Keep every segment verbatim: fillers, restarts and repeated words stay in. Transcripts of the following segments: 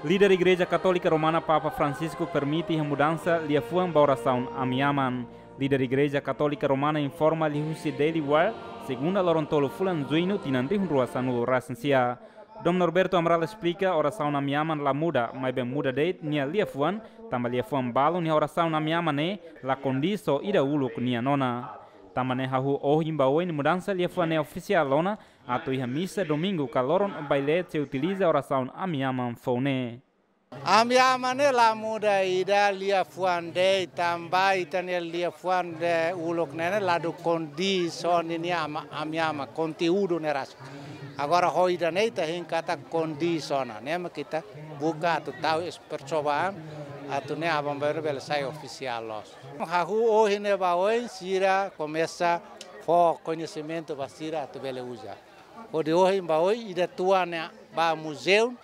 Líder Igreja Katólika Romana, Papa Francisco permite iha mudansa liafuan ba orasaun Ami Aman. Líder Igreja Katólika Romana informa liuhusi Daily Wire, segunda loron tolu fulan Juñu tinan rihun rua sanulu resin sia. Dom Norberto Amaral esplika, orasaun Ami Aman la muda, maibé muda de'it nia liafuan, tanba liafuan balun iha orasaun Ami Aman ne'e la kondís ho ida uluk nian ona. Tanba ne'e hahú ohin ba oin mudansa liafuan ne'e ofisiál ona, atu iha misa domingu ka loron bailete sei utiliza orasaun Ami Aman foun ne'e. Ami Aman ne'e la muda ida liafuan de'it, tanba ita-nia liafuan uluk ne'e ne'e ladún kondís ho ninia ama, Ami Aman, konteúdu ne'e rasik. Agora ho ida-ne'e ita hein katak kondís ona, ne'e mak ita buka atu tau es percobaan, atu ne'e aban-bainrua bele sai ofisiál loos. Hahú ohin ne'e ba oin sira komesa fó koñesimentu ba sira atu bele uza. Hodi ohin ba oin ida tuan ne'e ba muzeu,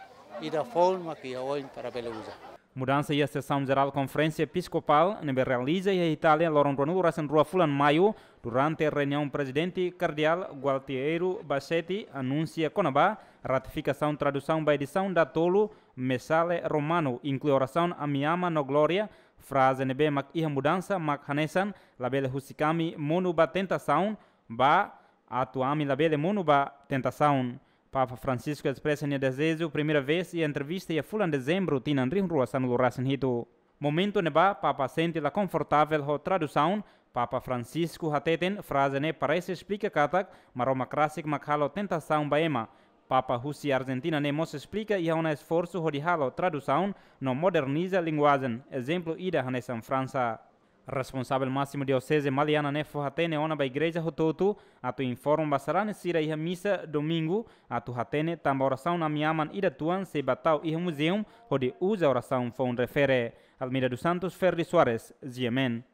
ida foun mak iha oin para bele uza. Mudansa iha sesaun jerál Konferénsia Episkopál ne'ebé realiza iha Itália loron ruanulu resin rua fulan Maiu, durante reuniaun Prezidente Kardeál Gualtiero Bassetti anunsia kona-ba ratifikasaun tradusaun ba edisaun datolu Missale Romano, inklui orasaun Ami Aman no Glória. Fraze ne'ebé mak iha mudansa mak hanesan: Labele husik ami monu ba tentasaun, ba Atu ami labele monu ba tentasaun. Papa Francisco espresa nia dezeju primeira vez iha entrevista iha fulan Dezembru tinan rihun rua sanulu resin hitu. Momentu ne'ebá Papa sente la konfortavel ho tradusaun. Papa Francisco hateten fraze ne'e parese esplika katak Maromak rasik mak halo tentasaun ba ema. Papa husi Argentina ne'e mós esplika iha ona esforsu hodi halo tradusaun no moderniza linguajen, ezemplu ida hanesan Fransa. Responsavel másimu Dioseze Maliana ne'e fó-hatene ona ba igreja hotu-hotu atu informa ba sarani sira iha misa domingu, atu hatene tanba orasaun Ami Aman ida tuan sei ba tau iha muzeu hodi uza orasaun foun refere. Almeida dos Santos, Ferdi Soares, G M N.